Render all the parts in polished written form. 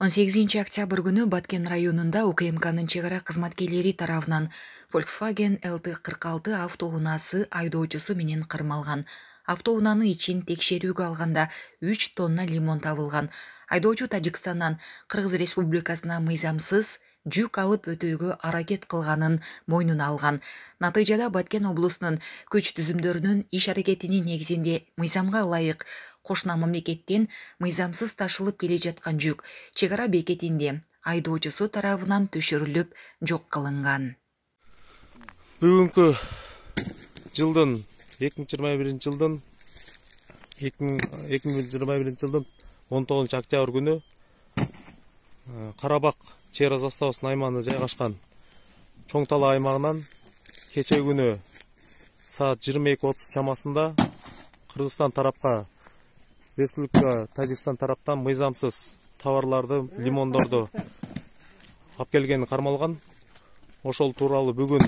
18 октябрь күнү Баткен районунда УКМКнын чек ара кызматкерлери тарабынан Volkswagen LT46 автоунаасы айдоочусу менен кырмалган. Автоунаанын ичин текшерүүгө алганда 3 тонна лимон табылган. Айдоочу Тажикстандан Кыргыз Республикасына мыйзамсыз жүк алып өтүүгө аракет кылганын мойнуна алган. Натыйжада Баткен облусунун күч түзүмдөрүнүн иш аракетинин негизинде мыйзамга ылайык кошуна мамлекеттен мыйзамсыз ташылып келе жаткан жүк чек ара бекетинде айдоочусу тарабынан түшүрүлүп жок кылынган. Бүгүнкү жылдын 2021 жылдын 19 октябрь күнү Карабак чек ара заставасынын аймагында жайгашкан Чоң Тала аймагынан кече күнү саат 22:30 чамасында Кыргызстан тарапка Республика Тажикстан тараптан мыйзамсыз товарларды, лимондорду алып келгени кармалган. Ошол тууралуу бүгүн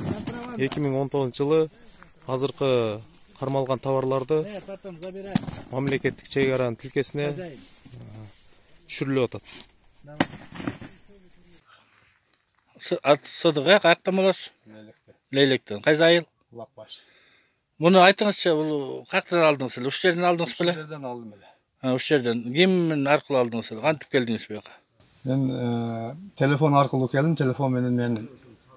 2019 жылы азыркы кармалган товарларды мамлекеттик чек аранын тилкесине түшүрүлүп атат. Сыдыгы каяктан болосуз? Лейлектен. Кайсы айыл? Лапбаш. Муну айтыңызчы, бул каяктан алдыңыз эле? Уш жерден алдыңыз беле? Уш жерден алдым эле. Уш жерден. Ким аркылуу алдыңыз эле? Кантип келдиңиз буяка? Мен телефон аркылуу келдим. Телефон менен мен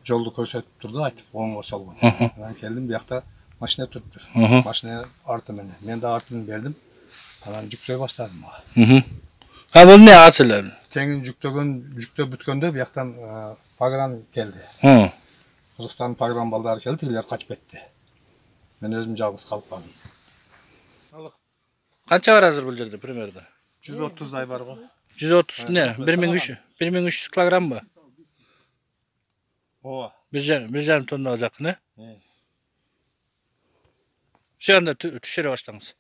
жолду көрсөтүп турду, айтып оңго солгон. Анан келдим, биякта машина туруптур. Машина арты менен. Мен да артын бердим. Анан жүктөй баштадым. Бул эмне асылы? Теңин жүктөп бүткөндө бияктан погран келди. Кыргызстан погран балдары келди, тигилер качып кетти. Мен өзүм жалгыз калып калдым. Канча бар азыр бул жерде примерно? 130 бар го. 130 не? 1300 килограммбы? Ооба. 1,5 тоннага жакын, э? Ошондо түшүрө баштаңыз.